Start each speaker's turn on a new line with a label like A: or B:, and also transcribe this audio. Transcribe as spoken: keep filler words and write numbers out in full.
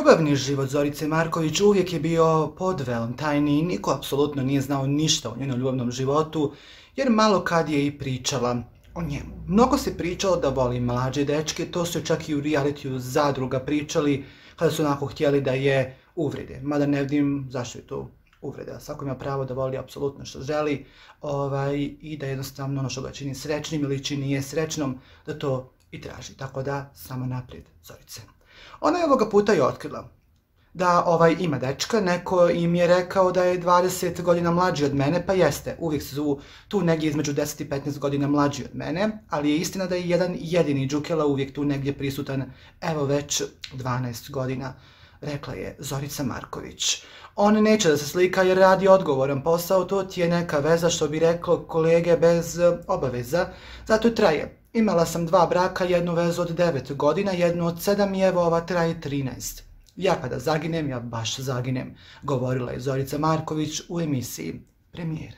A: Ljubavni život Zorice Marković uvijek je bio podvelom, tajni i niko apsolutno nije znao ništa o njenom ljubavnom životu, jer malo kad je i pričala o njemu. Mnogo se pričalo da voli mlađe dečke, to su čak i u realitiju Zadruga pričali kada su onako htjeli da je uvrede. Mada ne vidim zašto je to uvreda. Svako ima pravo da voli apsolutno što želi ovaj, i da jednostavno ono što ga čini srećnim ili čini je srećnom, da to i traži. Tako da, samo naprijed, Zorice. Ona je ovoga puta i otkrila da ovaj ima dečka, neko im je rekao da je dvadeset godina mlađi od mene, pa jeste, uvijek su tu negdje između deset i petnaest godina mlađi od mene, ali je istina da je jedan jedini Đukela uvijek tu negdje prisutan, evo već dvanaest godina, rekla je Zorica Marković. On neće da se slika jer radi odgovoran posao, to ti je neka veza što bi reklo kolege bez obaveza, zato i traje. Imala sam dva braka, jednu vezu od devet godina, jednu od sedam i evo ova traje trinaest. Ja kada zaginem, ja baš zaginem, govorila je Zorica Marković u emisiji Premijera.